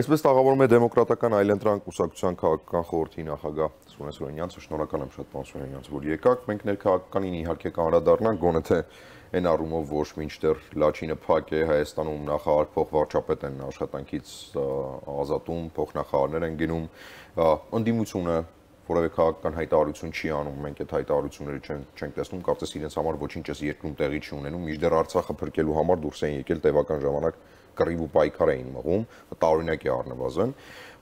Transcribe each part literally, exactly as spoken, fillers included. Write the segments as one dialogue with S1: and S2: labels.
S1: Այսպես տաղավարում է դեմոկրատական այլընտրանք կուսակցության քաղաքական խորհրդի նախագահ Սուրեն Սուրենյանցը, շնորհակալ եմ շատ պարոն Սուրենյանց, որ եկաք։ Մենք ներքաղաքականին իհարկե կանդրադառնանք, գոնե թե այն առումով, որ մինչդեռ Լաչինը փակ է, Հայաստանում նախարար փոխվարչապետ են աշխատանքից ազատում, փոխնախարարներ են գնում, ընդդիմությունը որևէ քաղաքական հայտարարություն չի անում, մենք այդ հայտարարությունները չենք տեսնում, կարծես իրենց համար ոչինչ էս երկրում տեղի չի ունենում, մինչդեռ Արցախը փրկելու համար դուրս են եկել տևական ժամանակ կռիվ ու պայքար էին մղում, տարօրինակ է առնվազն,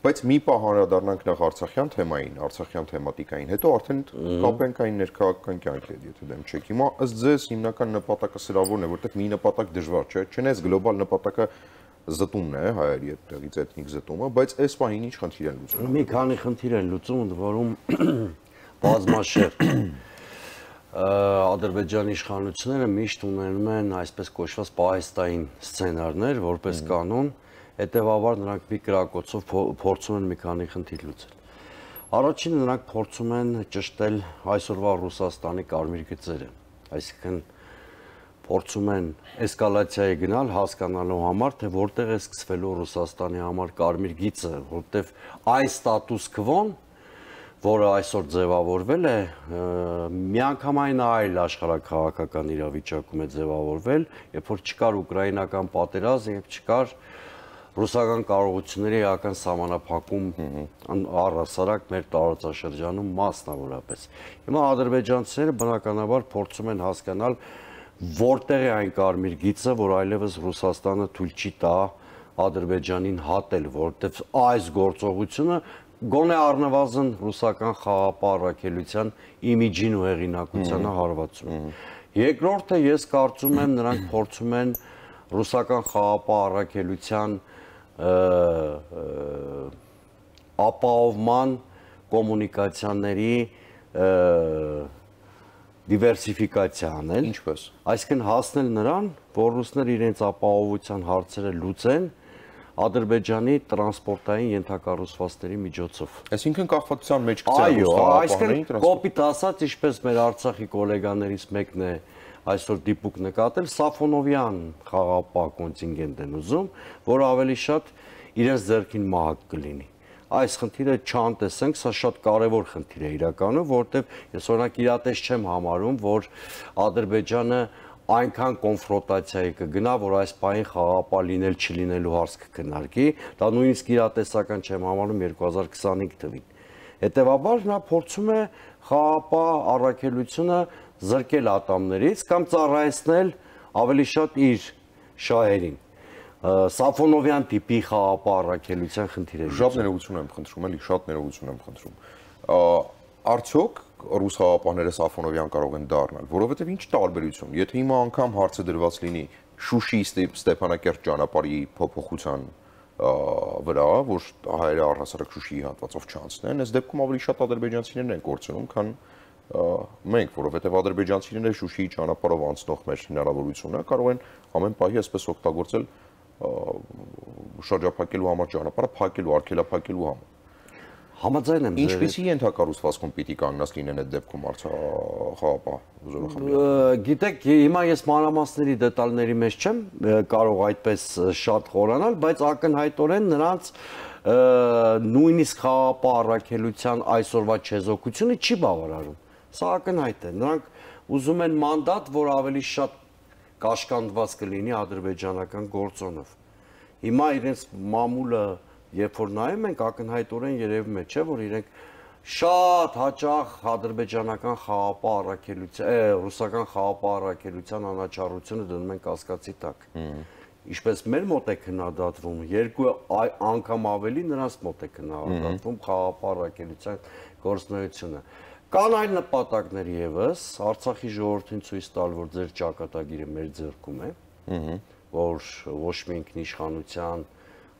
S1: բայց մի պահ անդրադառնանք նախ արցախյան թեմային, արցախյան թեմատիկային, հետո արդեն կապենք այն ներքաղաքական կյանքի հետ, եթե դեմ չեք։ Հիմա ըստ ձեզ հիմնական նպատակը սրա որն է, որտեղ մի նպատակ դժվար չէ, չնայած գլոբալ նպատակը զտումն է, հայերի հետից էթնիկ զտումը, բայց այս պահին ինչ խնդիր են լուծում։
S2: Մի քանի խնդիր են լուծում, ընդ որում բազմաշերտ Ադրբեջանի իշխանությունները միշտ ունենում են այսպես կոչված պահեստային սցենարներ, որպես կանոն, հետևաբար նրանք մի կրակոցով փորձում են մի քանի խնդիր լուծել։ Առաջինը նրանք փորձում են ճշտել այսօրվա Ռուսաստանի կարմիր գծերը, այսինքն փորձում են էսկալացիայի գնալ հասկանալու համար, թե որտեղ է սկսվելու Ռուսաստանի համար կարմիր գիծը, որտեղ այս ստատուս քվոն, որը այսօր ձևավորվել է, միանգամայն այլ աշխարհաքաղաքական իրավիճակում է ձևավորվել, երբ որ չկար ուկրաինական պատերազմ, երբ չկար ռուսական կարողությունների էական սահմանափակում առհասարակ մեր տարածաշրջանում մասնավորապես։ Հիմա ադրբեջանցիները բնականաբար փորձում են հասկանալ որտեղ է այն կարմիր գիծը, որ այլևս Ռուսաստանը թույլ չի տա Ադրբեջանին հատել, որտեղ այս գործողությունը գոնե առնվազն ռուսական խաղապահ առաքելության իմիջին ու հեղինակությանը հարվածում է։ Երկրորդը ես կարծում եմ նրանք փորձում են ռուսական խաղապահ առաքելության ապահովման կոմունիկացիաների դիվերսիֆիկացիա անել,
S1: ինչպես,
S2: այսինքն հասնել նրան, որ ռուսները իրենց ապահովության հարցերը լուծեն Ադրբեջանի տրանսպորտային ենթակառուցվածքների միջոցով։
S1: Այսինքն կախվածության մեջ գցել
S2: Այո, այսինքն կոպիտ ասած, ինչպես մեր Արցախի գոլեգաներից մեկն է այսօր դիպուկ նկատել, Սաֆոնովյան խաղապահ կոնտինգենտ են ուզում, որ ավելի շատ իրենց ձեռքին մահակ կլինի։ Այս խնդիրը չանտեսենք, սա շատ կարևոր խնդիր է իրականում, որովհետև ես օրինակ իրատես չեմ համարում, որ Ադրբեջանը այնքան կոնֆրոնտացիայի կգնա, որ այս պահին խաղապահ լինել չլինելու հարց կքննարկի, դա նույնիսկ իրատեսական չեմ համարում երկու հազար քսանհինգ թվին։ Հետևաբար նա փորձում է խաղապահ առաքելությունը զրկել ատամներից կամ ծառայեցնել ավելի շատ իր շահերին։ Սաֆոնովյան տիպի խաղապահ առաքելության խնդիր է։
S1: Շատ ներողություն եմ խնդրում, էլի շատ ներողություն եմ խնդրում։ Արդյոք ռուս խաղապահները Սաֆոնովյան կարող են դառնալ, որովհետև ինչ տարբերություն, եթե հիմա անգամ հարցը դրված լինի Շուշի Ստեփանակերտ ճանապարհի փոփոխության վրա, որ հայերը առհասարակ Շուշիի հատվածով չանցնեն, այս դեպքում ավելի շատ ադրբեջանցիներն են կորցնում, քան մենք, որովհետև ադրբեջանցիները Շուշիի ճանապարհով անցնող մեր հնարավորությունը կարող են ամեն պահի այսպես օգտագործել շրջափակելու համար ճանապարհը, փակելու, արգելափակելու համար։
S2: Համաձայն եմ։
S1: Ինչպիսի ենթակառուցվածքում պիտի կանգնած լինեն այդ դեպքում խաղապահ զորախմբերը։
S2: Գիտեք, հիմա ես մանրամասների դետալների մեջ չեմ կարող այդպես շատ խորանալ, բայց ակնհայտորեն նրանց նույնիսկ խաղապահ առաքելության այսօրվա չեզոքությունը չի բավարարում։ Սա ակնհայտ է։ Նրանք ուզում են մանդատ, որ ավելի շատ կաշկանդված կլինի ադրբեջանական գործոնով։ Հիմա իրենց մամուլը, երբ որ նայում ենք, ակնհայտորեն երևում է, չէ, որ իրենք շատ հաճախ ադրբեջանական խաղապահ առաքելության, ռուսական խաղապահ առաքելության անաչառությունը դնում են կասկածի տակ։ Ինչպես մեր մոտ է քննադատվում, երկու անգամ ավելի նրանց մոտ է քննադատվում խաղապահ առաքելության գործունեությունը։ Կան այլ նպատակներ եւս, Արցախի ժողովրդին ցույց տալ, որ ձեր ճակատագիրը մեր ձեռքում է, որ ոչ մի ինքնիշխանության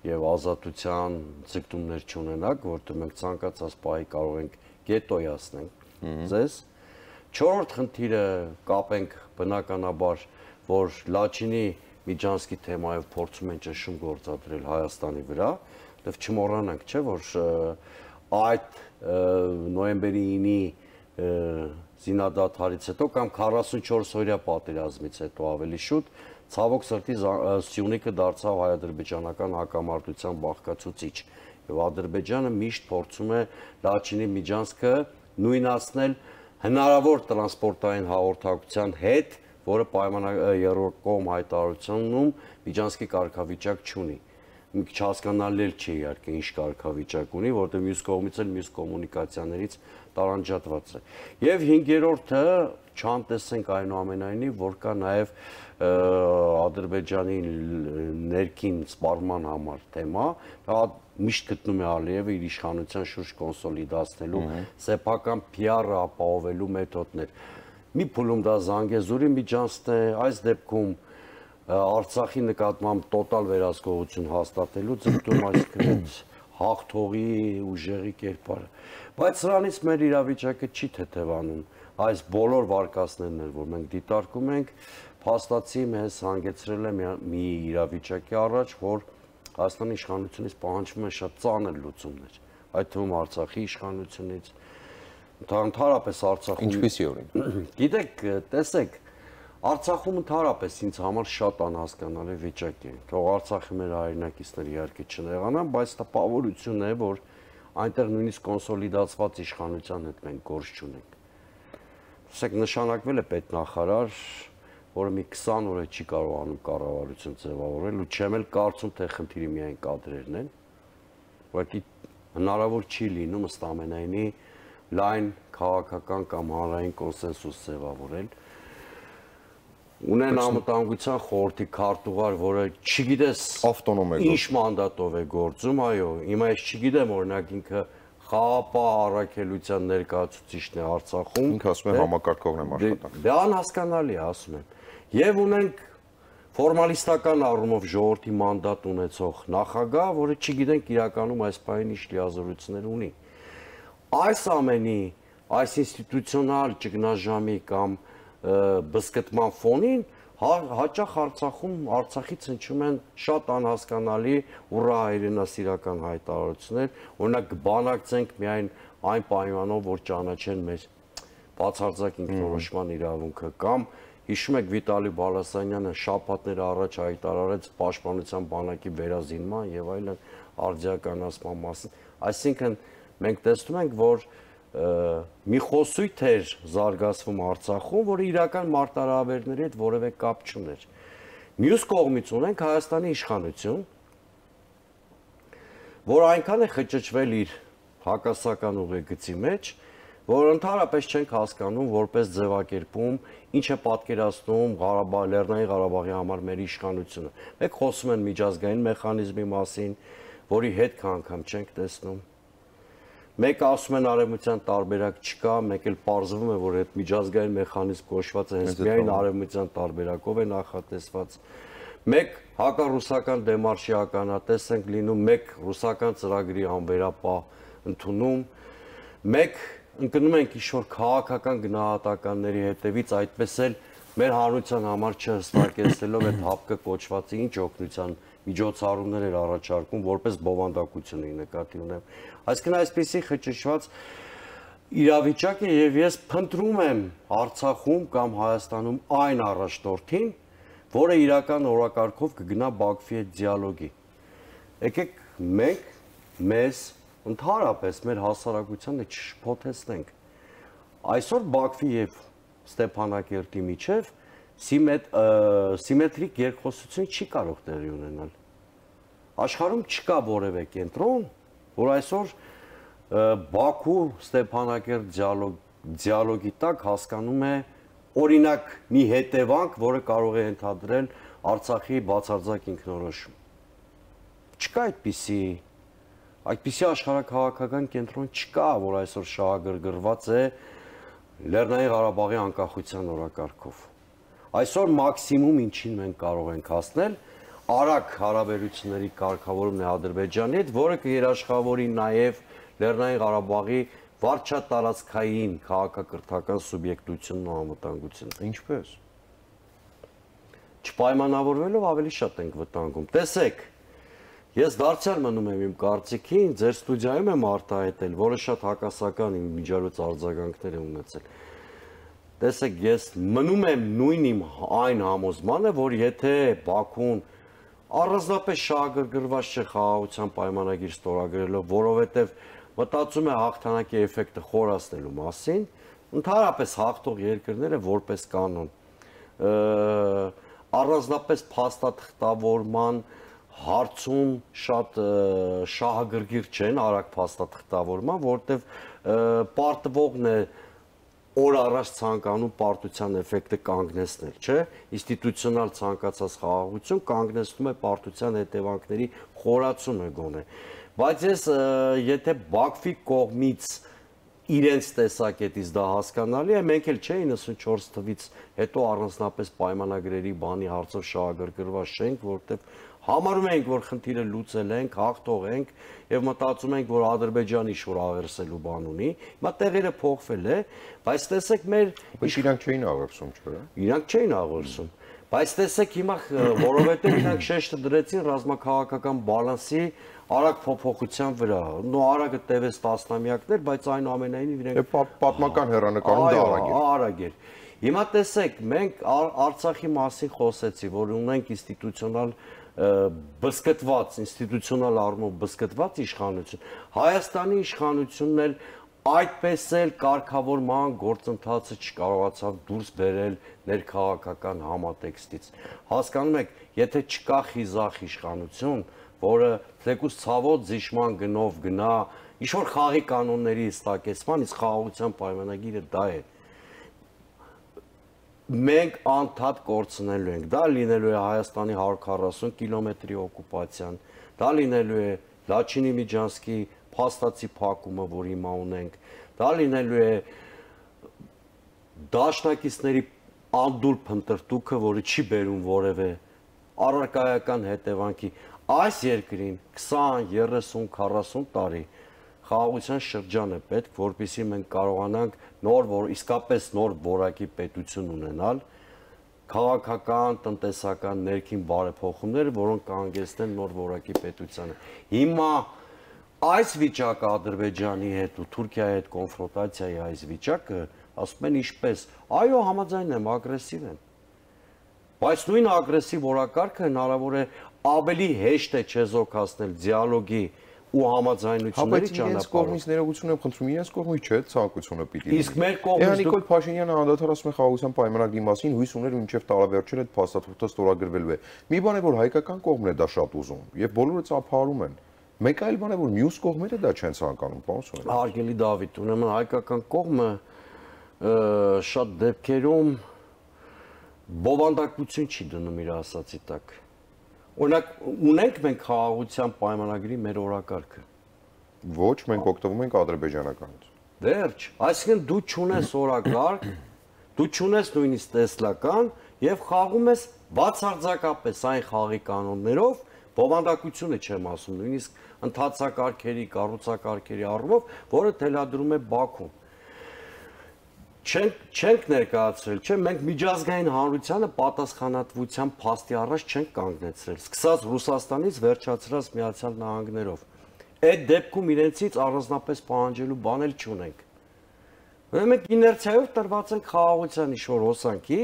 S2: եւ ազատության ձգտումներ չունենաք, որտեղ մենք ցանկացած պահի կարող ենք գետոյացնենք ձեզ։ Չորրորդ խնդիրը կապենք բնականաբար, որ Լաչինի Միջանցքի թեմայով փորձում են ճնշում գործադրել Հայաստանի վրա, եւ չմոռանանք, չէ, որ այդ նոյեմբերի ինի զինադադարից հետո կամ քառասունչորս օրյա պատերազմից հետո ավելի շուտ, ցավոք սրտի Սյունիքը դարձավ հայ-ադրբեջանական հակամարտության բաղկացուցիչ եւ Ադրբեջանը միշտ փորձում է Լաչինի Միջանցքը նույնացնել հնարավոր տրանսպորտային հաղորդակցության հետ, որը պայմանավորական հայտարարությունում Միջանցքի կարգավիճակ չունի։ Մի քիչ հասկանալի չի իհարկե ինչ կարգավիճակ ունի, որտեղ մյուս կողմից էլ մյուս կոմունիկացիաներից տարանջատված է։ Եվ հինգերորդը չանտեսենք այնուամենայնիվ, որ կա նաև Ադրբեջանի ներքին սպառման համար թեմա, դա միշտ գտնում է Ալիևը իր իշխանության շուրջ կոնսոլիդացնելու սեփական P R-ը ապահովելու մեթոդներ։ Մի փուլում դա Զանգեզուրի միջանցքն է, այս դեպքում Արցախի նկատմամբ տոտալ վերահսկողություն հաստատելու ձգտում, այսինքն հաղթողի ուժերի կերպարը։ Բայց սրանից մեր իրավիճակը չի թեթևանում։ Այս բոլոր վարկածներն են, որ մենք դիտարկում ենք, փաստացի մեզ հանգեցրել է մի իրավիճակի առաջ, որ Հայաստանի իշխանությունից պահանջվում են շատ ծանր լուծումներ, այդ թվում Արցախի իշխանությունից, ընդհանրապես Արցախում։
S1: Ինչպիսի օրինակ։
S2: Գիտեք, տեսեք, Արցախում ընդհանրապես ինձ համար շատ անհասկանալի վիճակ է։ Թող Արցախի մեր հայրենակիցները իհարկե չնեղանան, բայց տպավորություն է, որ այնտեղ նույնիսկ կոնսոլիդացված իշխանության հետ մենք գործ չունենք։ Տեսեք, նշանակվել է պետնախարար, որը մի քսան օր է չի կարողանում կառավարություն ձևավորել, ու չեմ էլ կարծում, թե խնդիրը միայն կադրերն են, ուղղակի հնարավոր չի լինում ըստ ամենայնի լայն քաղաքական կամ հանրային կոնսենսուս ձևավորել։ Ունեն անվտանգության խորհրդի քարտուղար, որը չգիտես
S1: ավտոնոմ է
S2: ինչ մանդատով է գործում, այո, հիմա ես չգիտեմ, օրինակ ինքը խաղապահ առաքելության ներկայացուցիչն է Արցախում։
S1: Ինքը ասում է համակարգողն եմ աշխատանք։
S2: Դա անհասկանալի է, ասում եմ։ Եվ ունենք ֆորմալիստական առումով ժողովրդի մանդատ ունեցող նախագահ, որը չգիտենք իրականում այս պահին ինչ լիազորություններ ունի։ Այս ամենի, այս ինստիտուցիոնալ ճգնաժամի կամ բզկտման ֆոնին հաճախ Արցախում Արցախից հնչում են շատ անհասկանալի ուռա հայրենասիրական հայտարարություններ, օրինակ բանակցենք միայն այն պայմանով, որ ճանաչեն մեր բացարձակ ինքնորոշման իրավունքը, կամ հիշում եք Վիտալի Բալասանյանը շաբաթներ առաջ հայտարարեց պաշտպանության բանակի վերազինման եւ այլն արդիականացման մասին, այսինքն մենք տեսնում ենք, որ մի խոսույթ էր զարգացվում Արցախում, որը իրական մարտահրավերների հետ որևէ կապ չուներ։ Մյուս կողմից ունենք Հայաստանի իշխանություն, որ այնքան է խճճվել իր հակասական ուղեգծի մեջ, որ ընդհանրապես չենք հասկանում որպես ձևակերպում, ինչ է պատկերացնում Ղարաբաղ, Լեռնային Ղարաբաղի համար մեր իշխանությունը։ Մեկ խոսում են միջազգային մեխանիզմի մասին, որի հետ անգամ չենք տեսնում։ Մեկ ասում են արևմտյան տարբերակ չկա, մեկ էլ պարզվում է, որ այդ միջազգային մեխանիզմ կոչված է հենց միայն արևմտյան տարբերակով է նախատեսված։ Մեկ հակառուսական դեմարշի ականատես ենք լինում, մեկ ռուսական ծրագրի անվերապահ ընդունում, մեկ ընկնում ենք ինչ-որ քաղաքական գնահատականների հետևից, այդպես էլ մեր հանրության համար չհստակեցնելով այդ հապկը կոչվածի ինչ օգնության միջոցառումներ էր առաջարկում, որպես բովանդակություն է նկատի ունեմ։ Այսինքն այսպեսի խճճված իրավիճակ է եւ ես փնտրում եմ Արցախում կամ Հայաստանում այն առաջնորդին, որը իրական օրակարգով կգնա Բաքվի հետ դիալոգի։ Եկեք մենք մեզ ընդհանրապես մեր հասարակությանը չշփոթեցնենք։ Այսօր Բաքվի եւ Ստեփանակերտի միջև սիմետրիկ երկխոսություն չի կարող տեղի ունենալ։ Աշխարհում չկա որևէ կենտրոն, որ այսօր Բաքու Ստեփանակերտ դիալոգի տակ հասկանում է օրինակ մի հետևանք, որը կարող է ընդհանրել Արցախի բացարձակ ինքնորոշում։ Չկա այդպիսի այդպիսի աշխարհակաղակական կենտրոն չկա, որ այսօր շահագրգռված է Լեռնային Ղարաբաղի անկախության օրակարգով։ Այսօր մաքսիմում ինչին մենք կարող ենք հասնել, արագ հարաբերությունների կարգավորումն է Ադրբեջանի հետ, որը կերաշխավորի նաև Լեռնային Ղարաբաղի վարչատարածքային քաղաքակրթական սուբյեկտությունն ու անվտանգությունը։
S1: Ինչպես։
S2: Չպայմանավորվելով ավելի շատ ենք վտանգում։ Տեսեք, ես դարձյալ մնում եմ իմ կարծիքին, ձեր ստուդիայում եմ արտահայտել, որը շատ հակասական իմ միջազգային արձագանքներ է ունեցել։ տեսեք, ես մնում եմ նույն իմ այն համոզմանը, որ եթե Բաքուն առանձնապես շահագրգռված չէ խաղաղության պայմանագիր ստորագրելով, որովհետև մտածում է հաղթանակի էֆեկտը խորացնելու մասին, ընդհանրապես հաղթող երկրները որպես կանոն առանձնապես փաստաթղթավորման հարցում շատ շահագրգիռ չեն, արագ փաստաթղթավորման, որովհետև պարտվողն է օր առաջ ցանկանում պարտության էֆեկտը կանգնեցնել, չէ՞, ինստիտուցիոնալ ցանկացած խաղաղություն կանգնեցնում է պարտության հետևանքների խորացումը գոնե։ Բայց ես եթե Բաքվի կողմից իրենց տեսակետից դա հասկանալի է, մենք էլ չէ իննսունչորս թվից հետո առանձնապես պայմանագրերի բանի հարցով շահագրգռված չենք, որովհետև համարում ենք, որ խնդիրը լուծել ենք, հաղթող ենք եւ մտածում ենք, որ Ադրբեջանը ինչ-որ աղերսելու բան ունի։ Հիմա տեղերը փոխվել է, բայց տեսեք մեր
S1: Բայց իրանք չէին աղերսում, չէ՞։
S2: Իրանք չէին աղերսում։ Բայց տեսեք հիմա, որովհետեւ իրանք շեշտը դրեցին ռազմաքաղաքական բալանսի արագ փոփոխության վրա։ Նո արագը տևեց տասնամյակներ, բայց այնուամենայնիվ իրենք
S1: պատմական հեռանկարում դա արագ է։
S2: Արագ էր։ Հիմա տեսեք, մենք Արցախի մասին խոսեցի, որ ունենք ինստիտուցիոնալ բսկտված, ինստիտուցիոնալ առումով բսկտված իշխանություն, Հայաստանի իշխանությունն էլ այդպես էլ կարգավորման գործընթացը չկարողացավ դուրս բերել ներքաղաքական համատեքստից։ Հասկանում եք, եթե չկա խիզախ իշխանություն, որը թեկուզ ցավոտ զիջման գնով գնա, ինչ-որ խաղի կանոնների հստակեցման, իսկ խաղաղության պայմանագիրը դա է։ Մենք անդադ կորցնելու ենք, դա լինելու է Հայաստանի հարյուր քառասուն կիլոմետրի օկուպացիան, դա լինելու է Լաչինի Միջանցքի փաստացի փակումը, որ հիմա ունենք, դա լինելու է դաշնակիցների անդուր փնտրտուքը, որը չի բերում որևէ առարկայական հետևանքի։ Այս երկրին քսան, երեսուն, քառասուն տարի խաղաղության շրջան է պետք, որպեսզի մենք կարողանանք նոր, որ իսկապես նոր որակի պետություն ունենալ, քաղաքական, տնտեսական, ներքին բարեփոխումները, որոնք կհանգեցնեն նոր որակի պետությանը։ Հիմա այս վիճակը Ադրբեջանի հետ ու Թուրքիայի հետ կոնֆրոնտացիայի այս վիճակը, ասում են ինչպես, այո, համաձայն եմ, ագրեսիվ են։ Բայց նույն ագրեսիվ օրակարգը հնարավոր է ավելի հեշտ է չեզոքացնել դիալոգի ու համաձայնությունների ճանապարհով։ Բայց իրենց կողմից
S1: ներողություն եմ խնդրում, իրենց կողմից չէ, ցանկությունը պիտի լինի։
S2: Իսկ մեր կողմից
S1: Նիկոլ Փաշինյանը անդադար ասում է խաղաղության պայմանագրի մասին, հույս ուներ մինչև տարեվերջերը այդ փաստաթուղթը ստորագրվելու է։ Մի բան է, որ հայկական կողմն է դա շատ ուզում, եւ բոլորը ծափարում են։ Մեկ այլ բան է, որ մյուս կողմերը դա չեն ցանկանում, պարոն Սոնյան։
S2: Հարգելի Դավիթ, ուրեմն հայկական կողմը շատ դեպքերում բովանդակություն չի դնում իր ասացի տակ։ Օրինակ, ունենք մենք խաղաղության պայմանագրի մեր օրակարգը։
S1: Ոչ, մենք օգտվում ենք ադրբեջանականից։
S2: Վերջ, այսինքն դու չունես օրակարգ, դու չունես նույնիսկ տեսլական եւ խաղում ես բացարձակապես այն խաղի կանոններով, բովանդակությունը չեմ ասում, նույնիսկ ընթացակարգերի, կառուցակարգերի առումով, որը թելադրում է Բաքուն։ Չենք չենք ներկայացրել, չէ՞, մենք միջազգային հանրությանը պատասխանատվության փաստի առաջ չենք կանգնեցրել, սկսած Ռուսաստանից վերջացրած Միացյալ Նահանգներով։ Այդ դեպքում իրենցից առանձնապես պահանջելու բան էլ չունենք։ Ուրեմն մենք իներցիայով տրված ենք խաղաղության ինչ-որ հոսանքի,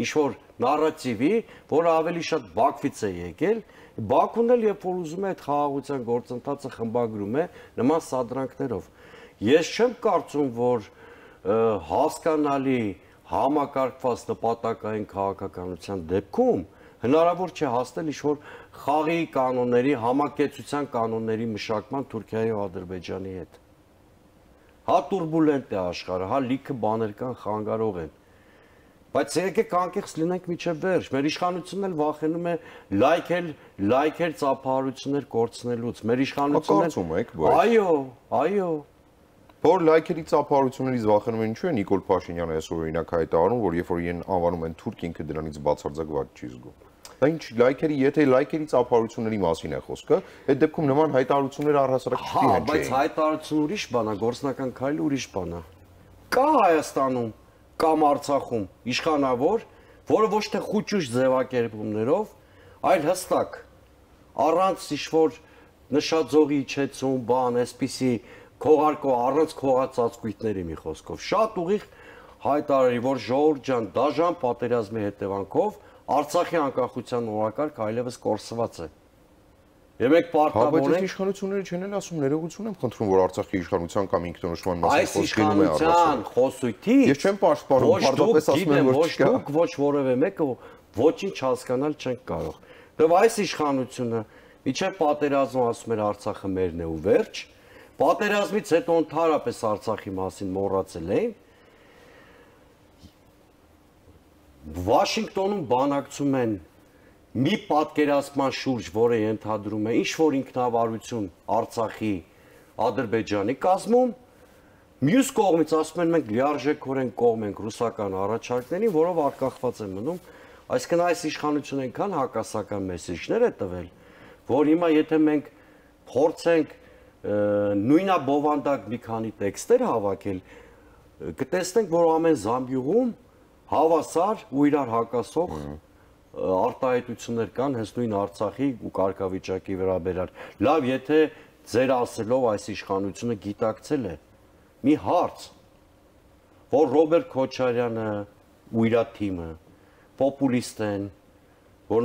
S2: ինչ-որ նարատիվի, որը ավելի շատ Բաքվից է եկել, Բաքուն էլ երբ որ ուզում է այդ խաղաղության գործընթացը խմբագրում է նման սադրանքներով։ Ես չեմ կարծում, որ հասկանալի համակարգված նպատակային քաղաքականության դեպքում հնարավոր չէ հասնել ինչ-որ խաղի կանոնների, համակեցության կանոնների մշակման Թուրքիայի ու Ադրբեջանի հետ։ Հա տուրբուլենտ է աշխարհը, հա լիքը բաներ կան, խանգարող են։ Բայց եկեք անկեղծ լինենք միջև վերջ։ Մեր իշխանությունն էլ վախենում է լայքել, լայքեր ծափահարություններ կորցնելուց։ Մեր իշխանությունն էլ Այո, այո։
S1: Որ լայքերի ծափահարություններից վախենում են ինչու է Նիկոլ Փաշինյանը այսօր օրինակ հայտարարում, որ երբ որ իրեն անվանում են թուրք, ինքը դրանից բացարձակված չի զգում։ Դա ինչ լայքերի, եթե լայքերի ծափահարությունների մասին է խոսքը, այդ դեպքում նման հայտարարությունները առհասարակ չպիտի հնչեն։
S2: Հա, բայց հայտարարությունը ուրիշ բան է, գործնական քայլը ուրիշ բան է։ Կա Հայաստանում կամ Արցախում իշխանավոր, որը ոչ թե խուճուճ ձևակերպումներով, այլ հստակ առանց ինչ-որ նշաձողի իջեցում, բան, այսպիսի քողարկո առանց քողածածկույթների մի խոսքով շատ ուղիղ հայտարարի, որ ժողովուրդ ջան, դաժան պատերազմի հետևանքով Արցախի անկախության օրակարգ այլևս կորսված է։ Եվ մենք պարտավոր ենք
S1: իշխանությունները չեն էլ ասում, ներողություն եմ խնդրում, որ Արցախի իշխանության կամ ինքնորոշման մասին
S2: այս իշխանության խոսույթից
S1: ես չեմ պաշտպանում, պարզապես ասում եմ, որ չկա։
S2: Ոչ ոչ որևէ մեկը ոչինչ հասկանալ չենք կարող։ Դեռ այս իշխանությունը միջև պատերազմը ասում էր Արցախը մերն է ու վերջ, պատերազմից հետո ընդհանրապես Արցախի մասին մոռացել էին։ Վաշինգտոնում բանակցում են մի պատկերացման շուրջ, որը ենթադրում է ինչ-որ ինքնավարություն Արցախի, Ադրբեջանի կազմում, մյուս կողմից ասում են մենք լիարժեքորեն կողմ ենք ռուսական առաջարկներին, որով արկախված են մնում, այսինքն այս իշխանությունը այնքան հակասական մեսիջներ է տվել, որ հիմա եթե մենք փորձենք նույնաբովանդակ մի քանի տեքստեր հավաքել, կտեսնենք, որ ամեն զամբյուղում հավասար ու իրար հակասող արտահայտություններ կան հենց նույն Արցախի ու կարգավիճակի վերաբերյալ։ Լավ, եթե ձեր ասելով այս իշխանությունը գիտակցել է մի հարց, որ Ռոբերտ Քոչարյանը ու իր թիմը պոպուլիստ են, որ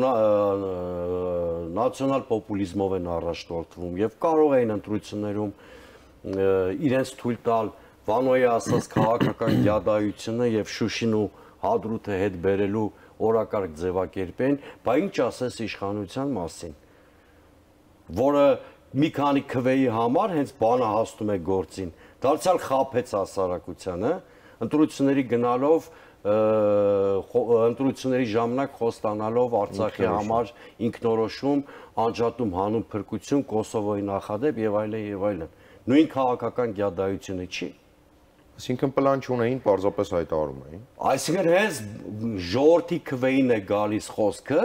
S2: նացիոնալ պոպուլիզմով են առաջնորդվում եւ կարող էին ընտրություններում իրենց թույլ տալ Վանոյի ասած քաղաքական գյադայությունը եւ Շուշին ու Հադրութը հետ բերելու օրակարգ ձևակերպեն, բա ինչ ասես իշխանության մասին, որը մի քանի քվեի համար հենց բանը հասնում է գործին, դարձյալ խաբեց հասարակությանը, ընտրությունների գնալով, ընտրությունների ժամանակ խոստանալով Արցախի համար ինքնորոշում, անջատում հանուն փրկություն, Կոսովոյի նախադեպ եւ այլն եւ այլն։ Նույն քաղաքական գյադայությունը չի։
S1: Այսինքն պլան չունեին, պարզապես հայտարարում էին։
S2: Այսինքն հենց ժողովրդի քվեին է գալիս խոսքը,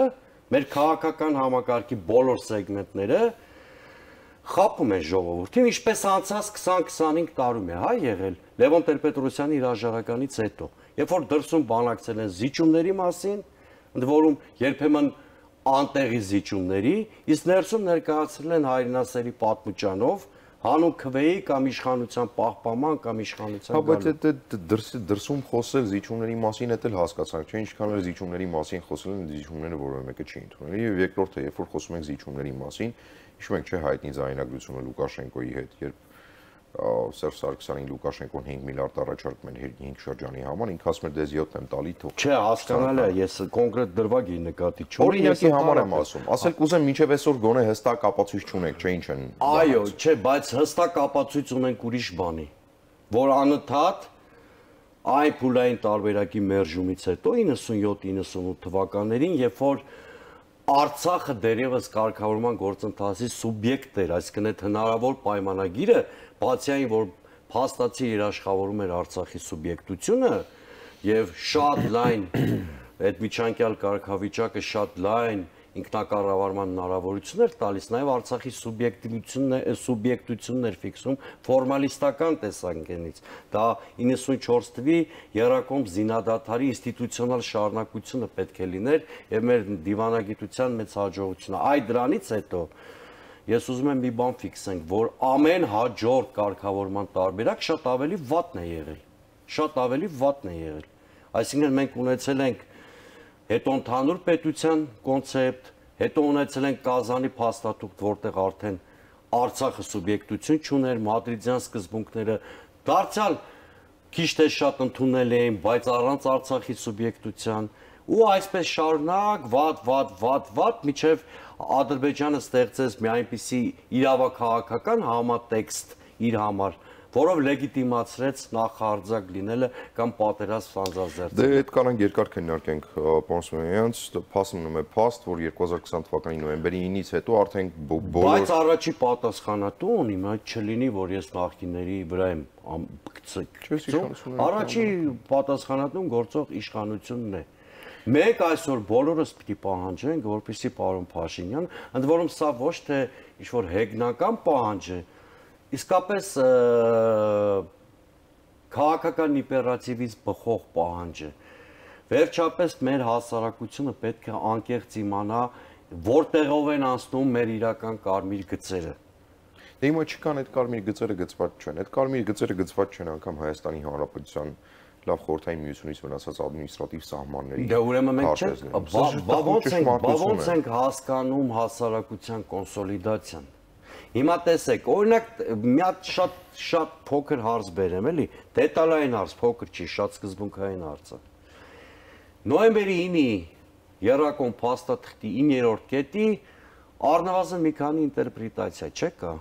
S2: մեր քաղաքական համակարգի բոլոր սեգմենտները խաբում են ժողովրդին, ինչպես անցած քսան քսանհինգ տարում է, հա, եղել Լևոն Տեր-Պետրոսյանի հրաժարականից հետո, երբ որ դրսում բանակցել են զիջումների մասին, ընդ որում երբեմն անտեղի զիջումների, իսկ ներսում ներկայացրել են հայրենասերի պատմուճանով հանուն քվեի կամ իշխանության պահպանման կամ իշխանության
S1: գալու։ Հա, բայց այդ դրսում խոսել զիջումների մասին էլ հասկացանք, չէ՞, ինչքան էլ զիջումների մասին խոսել են, զիջումները որևէ մեկը չի ընդունել։ Եվ երկրորդը, երբ որ խոսում ենք զիջումների մասին, հիշում ենք, չէ, հայտնի ձայնագրությունը Լուկաշենկոյի հետ, երբ Սերժ Սարգսյանին Լուկաշենկոն հինգ միլիարդ առաջարկում են հինգ շրջանի համար, ինքը ասում էր դες յոթ եմ տալի թող։
S2: Չէ, հասկանալ է, ես կոնկրետ դրվագի նկատի չունեմ։
S1: Օրինակի համար եմ ասում։ Ասել կուզեմ մինչև այսօր գոնե հստակ ապացույց չունեք, չէ՞ ինչ են։
S2: Այո, չէ, բայց հստակ ապացույց ունենք ուրիշ բանի, որ անընդհատ այն փուլային տարբերակի մերժումից հետո իննսունյոթ իննսունութ թվականներին, երբ որ Արցախը դերևս կարգավորման գործընթացի սուբյեկտ էր, այսինքն այդ հնարավոր պայմանագիրը, բացի այն, որ փաստացի երաշխավորում էր Արցախի սուբյեկտությունը եւ շատ լայն այդ միջանկյալ կարգավիճակը շատ լայն ինքնակառավարման հնարավորություններ տալիս, նաև Արցախի սուբյեկտիվությունն է, սուբյեկտությունն էր ֆիքսում ֆորմալիստական տեսանկյունից։ Դա իննսունչորս թվի Եռակոմ զինադադարի ինստիտուցիոնալ շարունակությունը պետք է լիներ եւ մեր դիվանագիտության մեծ հաջողությունը։ Այդ դրանից հետո ես ուզում եմ մի բան ֆիքսենք, որ ամեն հաջորդ կարգավորման տարբերակ շատ ավելի վատն է եղել։ Շատ ավելի վատն է եղել։ Այսինքն մենք ունեցել ենք հետո ընդհանուր պետության կոնցեպտ, հետո ունեցել ենք Կազանի փաստաթուղթ, որտեղ արդեն Արցախը սուբյեկտություն չուներ, մադրիդյան սկզբունքները դարձյալ քիչ թե շատ ընդունել էին, բայց առանց Արցախի սուբյեկտության, ու այսպես շարունակ վատ, վատ, վատ, վատ, միջև Ադրբեջանը ստեղծեց մի այնպիսի իրավաքաղաքական համատեքստ իր համար, որով լեգիտիմացրեց նախահարձակ լինելը կամ պատերազմ սանձազերծելը։
S1: Դե այդ կանանք երկար քննարկենք, պարոն Սիմոնյանց, փաստ մնում է փաստ, որ երկու հազար քսան թվականի նոյեմբերի ինից հետո արդեն բոլոր
S2: Բայց առաջի պատասխանատու ունի, այդ չլինի, որ ես նախկինների վրա եմ գցել։ Առաջի պատասխանատուն գործող իշխանությունն է։ Մենք այսօր բոլորս պիտի պահանջենք, որպեսզի պարոն Փաշինյան, ընդ որում սա ոչ թե ինչ-որ հեգնական պահանջ է, իսկապես քաղաքական իմպերատիվից բխող պահանջ է։ Վերջապես մեր հասարակությունը պետք է անկեղծ իմանա, որտեղով են անցնում մեր իրական կարմիր գծերը։
S1: Դե հիմա չկան այդ կարմիր գծերը գծված չեն։ Այդ կարմիր գծերը գծված չեն անգամ Հայաստանի Հանրապետության լավ խորհրդային միությունից վնասած ադմինիստրատիվ սահմանների։
S2: Դե ուրեմն մենք չենք, բա ոնց ենք հասկանում հասարակության կոնսոլիդացիան։ Հիմա տեսեք, օրինակ մի հատ շատ շատ փոքր հարց բերեմ, էլի, դետալային հարց, փոքր չի, շատ սկզբունքային հարցը։ Նոյեմբերի ինի երրակոմ փաստաթղթի իններորդ կետի առնվազն մի քանի ինտերպրետացիա չկա։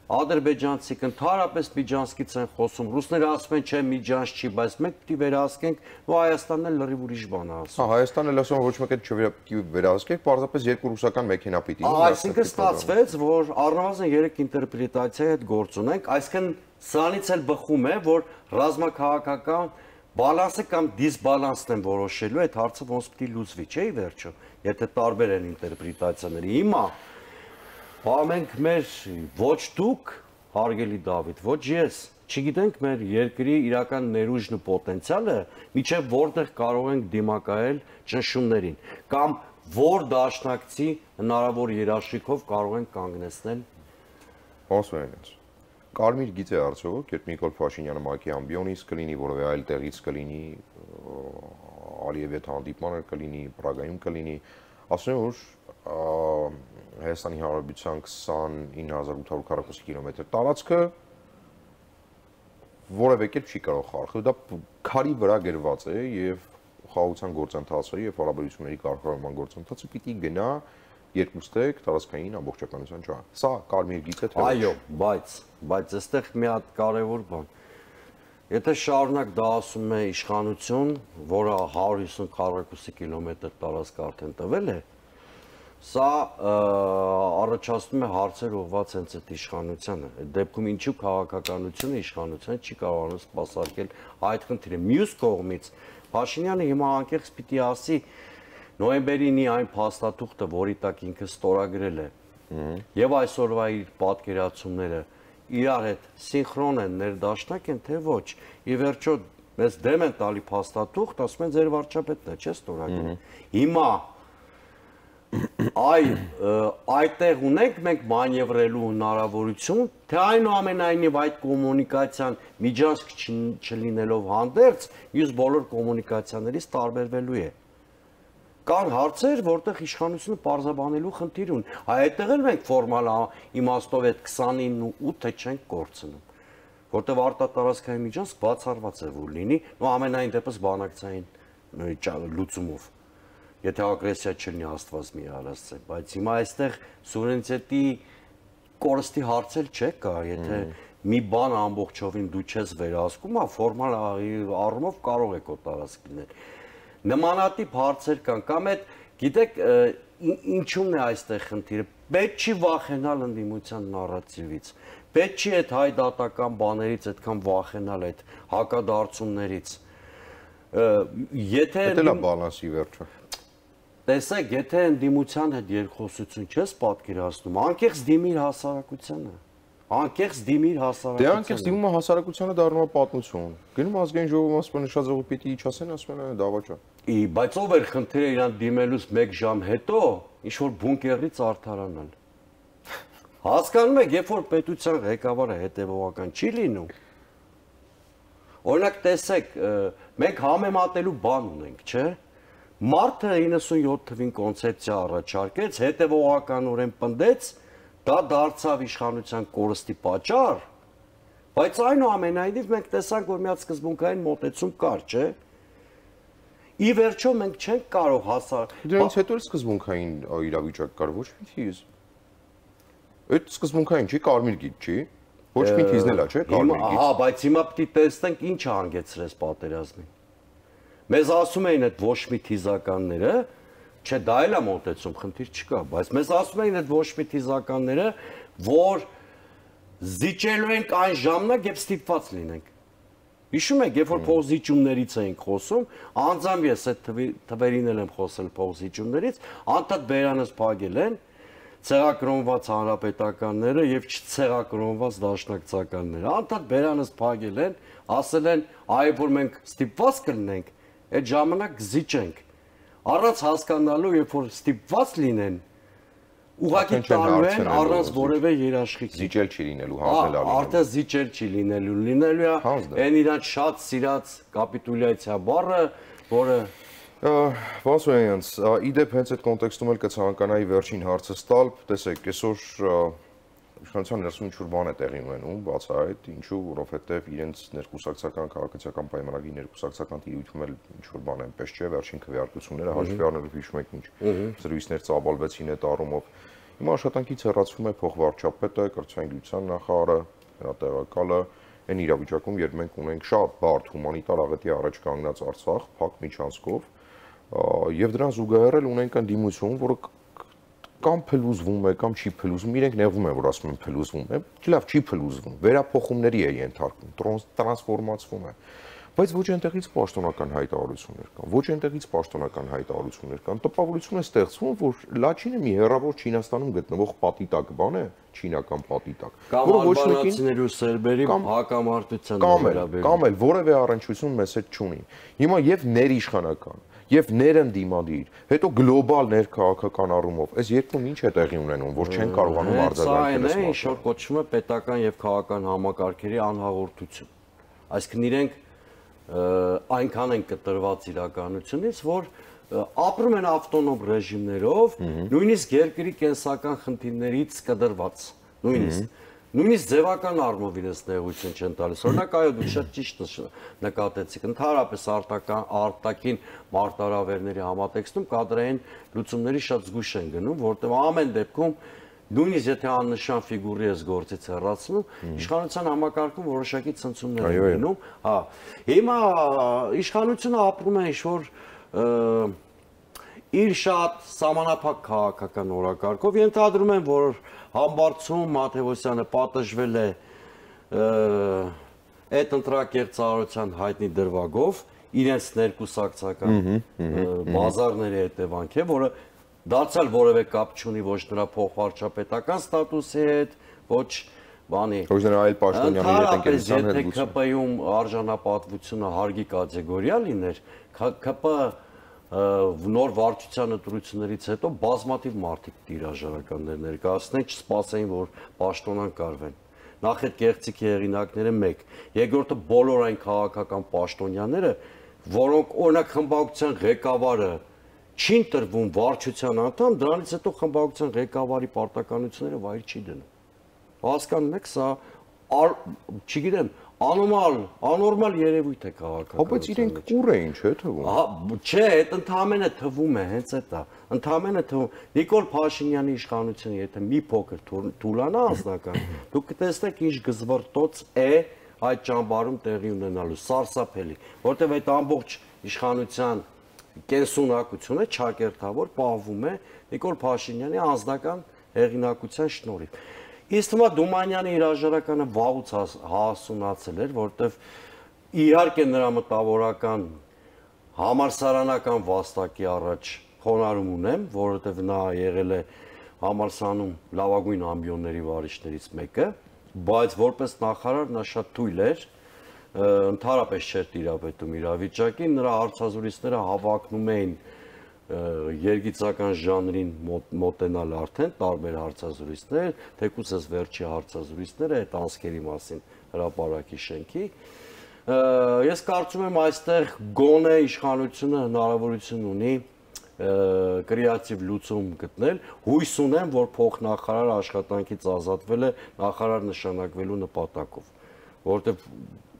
S2: Ադրբեջանցիք ընդհանրապես միջանցքից են խոսում, ռուսները ասում են չէ միջանց չի, բայց մենք պիտի վերահսկենք, ու Հայաստանն էլ լրիվ ուրիշ բան է ասում։
S1: Հա, Հայաստանն էլ ասում ոչ մեկ էլ չվերահսկեք, պարզապես երկու ռուսական մեքենա պիտի։
S2: Այսինքն ստացվեց, որ առնվազն երեք ինտերպրետացիայի հետ գործ ունենք, այսինքն սրանից էլ բխում է, որ ռազմաքաղաքական բալանսը կամ դիսբալանսն են որոշելու, այդ հարցը ոնց պիտի լուծվի, չէ՞ վերջը, եթե տարբեր են ինտերպրետացիաները։ Հիմա բա մենք մեր ոչ դուք, հարգելի Դավիթ, ոչ ես, չգիտենք մեր երկրի իրական ներուժն ու պոտենցիալը, միջև որտեղ կարող ենք դիմակայել ճնշումներին, կամ որ դաշնակցի հնարավոր երաշխիքով կարող ենք կանգնեցնել։
S1: Ոսվերենց։ Կարմիր գիծ է արդյոք, երբ Նիկոլ Փաշինյանը ՄԱԿ-ի ամբիոնից կլինի, որևէ այլ տեղից կլինի, Ալիևի հետ հանդիպման կլինի, Պրագայում կլինի, ասում են, որ Հայաստանի Հանրապետության քսանինը հազար ութ հարյուր քառակուսի կիլոմետր տարածքը որևէ կերպ չի կարող խարխել, դա քարի վրա գրված է եւ խաղաղության գործընթացը եւ հարաբերությունների կարգավորման գործընթացը պիտի գնա երկուստեք տարածքային ամբողջականության ճանաչ։ Սա կարմիր գիծ է թե ոչ։
S2: Այո, բայց բայց այստեղ մի հատ կարևոր բան։ Եթե շարունակ դա ասում է իշխանություն, որը հարյուր հիսուն քառակուսի կիլոմետր տարածք արդեն տվել է, սա առաջացնում է հարցեր ուղղված հենց այդ իշխանությանը։ Այդ դեպքում ինչու քաղաքականությունը իշխանությունը չի կարողանում սպասարկել այդ խնդիրը։ Մյուս կողմից Փաշինյանը հիմա անկեղծ պիտի ասի նոյեմբերինի այն փաստաթուղթը, որի տակ ինքը ստորագրել է, եւ այսօրվա իր պատկերացումները իրար հետ սինխրոն են, ներդաշնակ են, թե ոչ։ Ի վերջո մեզ դեմ են տալի փաստաթուղթ, ասում են ձեր վարչապետն է, չէ՞ ստորագրել։ Հիմա այ այդտեղ ունենք մենք մանևրելու հնարավորություն, թե այնուամենայնիվ այդ կոմունիկացիան միջանցք չլինելով հանդերձ, մյուս բոլոր կոմունիկացիաներից տարբերվելու է։ Կան հարցեր, որտեղ իշխանությունը պարզաբանելու խնդիր ունի։ Այդտեղ էլ մենք ֆորմալ իմաստով այդ քսանինն ու ութը չենք կորցնում, որտեղ արտատարածքային միջանցք բացառված է որ լինի, ու ամենայն դեպս բանակցային լուծումով։ Եթե ագրեսիա չլինի Աստված մի արասցե, բայց հիմա այստեղ սուվերենիտետի կորստի հարցել չկա, եթե մի բան ամբողջովին դու չես վերահսկում, ֆորմալ առումով կարող է քո տարածք լինել։ Նմանատիպ հարցեր կան, կամ այդ, գիտեք, ինչու՞մն է այստեղ խնդիրը։ Պետք չի վախենալ ընդդիմության նարատիվից, պետք չի այդ հայդատական բաներից այդքան վախենալ, այդ հակադարձումներից։ Եթե
S1: դա լավ բալանսի վերջը։
S2: Տեսեք, եթե ընդդիմության հետ երկխոսություն չես պատկերացնում, անկեղծ դիմիր հասարակությանը։ Անկեղծ դիմիր հասարակությանը։
S1: Դե անկեղծ դիմումը հասարակությանը դառնում է պատմություն։ Գնում ազգային ժողովում ասում են նշած ժողովի պիտի իջացեն, ասում են դավաճա։
S2: Ի, բայց ով էր խնդիրը իրան դիմելուց մեկ ժամ հետո ինչ որ բունկերից արդարանալ։ Հասկանում եք, երբ որ պետության ղեկավարը հետևողական չի լինում։ Օրինակ տեսեք, մենք համեմատելու բան ունենք, չէ՞։ Մարդը իննսունյոթ թվին կոնցեպցիա առաջարկեց, հետևողականորեն պնդեց, դա դարձավ իշխանության կորստի պատճառ, բայց այնուամենայնիվ մենք տեսանք, որ մի հատ սկզբունքային մոտեցում կար, չէ՞։ Ի վերջո մենք չենք կարող հասար։
S1: Դրանից հետո էլ սկզբունքային իրավիճակ կար, ոչ մի թիզ։ Այդ սկզբունքային չի, կարմիր գիծ չի, ոչ մի թիզն էլ է, չէ՞, կարմիր գիծ։
S2: Հա, բայց հիմա պիտի տեսնենք ինչ հանգեցրեց պատերազմին։ Մեզ ասում էին այդ ոչ մի թիզականները, չէ, դա էլ է մոտեցում, խնդիր չկա, բայց մեզ ասում էին այդ ոչ մի թիզականները, որ զիջելու ենք այն ժամանակ, երբ ստիպված լինենք։ Հիշում եք, երբ որ փոխզիջումներից էինք խոսում, անձամբ ես այդ թվերին էլ եմ խոսել փոխզիջումներից, անդադ բերանս փակել են ցեղակրոնված հանրապետականները եւ չցեղակրոնված դաշնակցականները։ Անդադ բերանս փակել են, ասել են, այ որ մենք ստիպված կլինենք, այդ ժամանակ զիջենք։ Առանց հասկանալու, երբ որ ստիպված լինեն, ուղղակի տալու են առանց որևէ երաշխիքի։
S1: Զիջել չի լինելու, հանձնել արի։
S2: Արդեն զիջել չի լինելու, լինելու է այն իրանց շատ սիրած կապիտուլյացիա բառը, որը
S1: Վասոյանց, իդեպ հենց այդ կոնտեքստում էլ կցանկանայի վերջին հարցը ստալ, տեսեք, այսօր իշխանության ներսում ինչ-որ բան է տեղի ունենում, բաց այդ, ինչու, որովհետև իրենց ներկուսակցական քաղաքացիական պայմանագրի ներկուսակցական տիրույթում էլ ինչ-որ բան այնպես չէ, վերջին քվեարկությունները հաշվի առնելով հիշում եք ինչ զրույցներ ծավալվեցին այդ առումով։ Հիմա աշխատանքից հեռացվում է փոխվարչապետը, կրթության նախարարը, նրա տեղակալը, այն իրավիճակում, երբ մենք ունենք շատ բարդ հումանիտար աղետի առաջ կանգնած Արցախ, փակ միջանցքով, եւ դրան զուգահեռ ունենք ընդդիմություն, որը կամ փլուզվում է, կամ չի փլուզվում, իրենք նեղվում են, որ ասում են փլուզվում է, լավ չի փլուզվում, վերափոխումների է ենթարկվում, տրանսֆորմացվում է, բայց ոչ այնտեղից պաշտոնական հայտարարություններ կան, ոչ այնտեղից պաշտոնական հայտարարություններ կան, տպավորություն է ստեղծվում, որ Լաչինը մի հեռավոր Չինաստանում գտնվող պատի տակ բան է, չինական պատի տակ,
S2: որը ոչ մեկին ու սերբերի հակամարտության
S1: վերաբերում, կամ էլ որևէ առնչություն մեզ հետ չունի։ Հիմա եւ ներիշխանական եւ ներընդդիմադիր, հետո գլոբալ ներքաղաքական առումով, այս երկում ինչ է տեղի ունենում, որ չեն կարողանում արձագանքել
S2: այս մասը։ Ինչ որ կոչվում է պետական եւ քաղաքական համակարգերի անհաղորդություն։ Այսինքն իրենք այնքան են կտրված իրականությունից, որ ապրում են ավտոնոմ ռեժիմներով, նույնիսկ երկրի կենսական խնդիրներից կդրված, նույնիսկ Նույնիսկ ձևական առումով իրենց նեղություն չեն տալիս։ Օրինակ, այո, դուք շատ ճիշտ նկատեցիք, ընդհանրապես արտաքին մարտահրավերների համատեքստում կադրային լուծումների շատ զգույշ են գնում, որտեղ ամեն դեպքում նույնիսկ եթե աննշան ֆիգուրի ես գործից հեռացնում, իշխանության համակարգում որոշակի ցնցումներ են լինում։ Հա, հիմա իշխանությունը ապրում է ինչ-որ իր շատ սահմանափակ քաղաքական օրակարգով, ենթադրում են, որ Համբարձում Մաթևոսյանը պատժվել է այդ ընտրակերծարարության հայտնի դրվագով, իրենց ներկուսակցական բազարների հետևանք է, որը դարձյալ որևէ կապ չունի ոչ նրա փոխվարչապետական ստատուսի հետ, ոչ բանի։
S1: Ոչ նրա այլ պաշտոնյաների հետ ընկերության հետ
S2: Եթե ՔՊ-ում արժանապատվությունը հարգի կատեգորիա լիներ, ՔՊ նոր վարչության ընտրություններից հետո բազմաթիվ մարդիկ տիրաժարականներ ներկայացնեն, չսպասեին, որ պաշտոնան կարվեն։ Նախ այդ կեղծիքի հեղինակները մեկ, երկրորդը բոլոր այն քաղաքական պաշտոնյաները, որոնք օրինակ խմբակցության ղեկավարը չի ընտրվում վարչության անդամ, դրանից հետո խմբակցության ղեկավարի պարտականությունները վայր չի դնում։ Հասկանում եք, սա չգիտեմ, անորմալ, անորմալ երևույթ է քաղաքական։
S1: Բայց իրենք կուր էին, չէ՞ թվում։
S2: Ահա, չէ, այդ ընդհանրապես թվում է, հենց այդ է։ Ընդհանրապես թվում։ Նիկոլ Փաշինյանի իշխանությունը, եթե մի փոքր թուլանա անձնական, դուք կտեսնեք ինչ գզվռտոց է այդ ճամբարում տեղի ունենալու, սարսափելի, որտեղ այդ ամբողջ իշխանության կենսունակությունը չակերտավոր պահվում է Նիկոլ Փաշինյանի անձնական հեղինակության շնորհիվ։ Իսկ թվում է Դումանյանի հրաժարականը վաղուց հասունացել էր, որտեվ իհարկե նրա մտավորական համալսարանական վաստակի առաջ խոնարհում ունեմ, որովհետև նա եղել է համալսարանում լավագույն ամբիոնների վարիչներից մեկը, բայց որպես նախարար նա շատ թույլ էր, ընդհանրապես չէր տիրապետում իրավիճակին, նրա հարցազրույցները հավակնում էին երգիծական ժանրին մոտենալ արդեն տարբեր հարցազրույցներ, թեկուզ այս վերջի հարցազրույցները այդ անցքերի մասին հրապարակի շենքի։ Ես կարծում եմ այստեղ գոնե իշխանությունը հնարավորություն ունի կրեատիվ լուծում գտնել, հույս ունեմ, որ փոխնախարարը աշխատանքից ազատվել է նախարար նշանակվելու նպատակով, որովհետև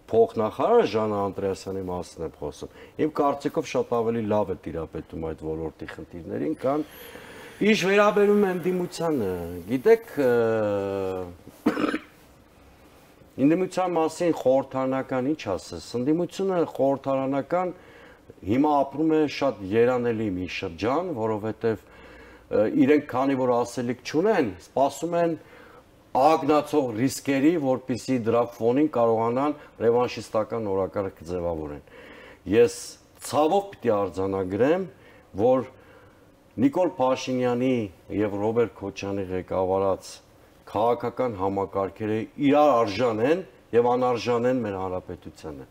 S2: փոխնախարարը Ժանա Անդրեասյանի մասին եմ խոսում։ Իմ կարծիքով շատ ավելի լավ է տիրապետում այդ ոլորտի խնդիրներին, քան ինչ վերաբերում է ընդդիմությանը։ Գիտեք, ընդդիմության մասին խորհրդարանական ինչ ասես, ընդդիմությունը խորհրդարանական հիմա ապրում է շատ երանելի մի շրջան, որովհետև իրենք քանի որ ասելիք չունեն, սպասում են ագնացող ռիսկերի, որպիսի դրա ֆոնին կարողանան ռևանշիստական օրակարգ ձևավորեն։ Ես ցավով պիտի արձանագրեմ, որ Նիկոլ Փաշինյանի եւ Ռոբերտ Քոչյանի ղեկավարած քաղաքական համակարգերը իրար արժան են եւ անարժան են մեր հանրապետությանը։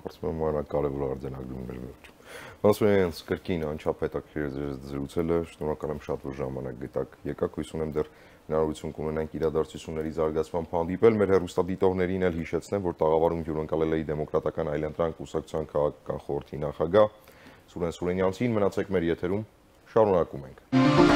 S1: Կարծում եմ, որ կարևոր արձանագրումներ վերջում։ Ոսվեն կրկին անչափ հետաքրքիր զրուցելը, շնորհակալ եմ շատ որ ժամանակ գտաք։ Եկաք, հույս ունեմ դեռ հնարավորություն կունենանք իրադարձությունների զարգացման հանդիպել։ Մեր հեռուստադիտողներին էլ հիշեցնեմ, որ տաղավարում հյուրընկալել էի Դեմոկրատական այլընտրանք կուսակցության քաղաքական խորհրդի նախագահ Սուրեն Սուրենյանցին։ Մնացեք մեր եթերում, շարունակում ենք։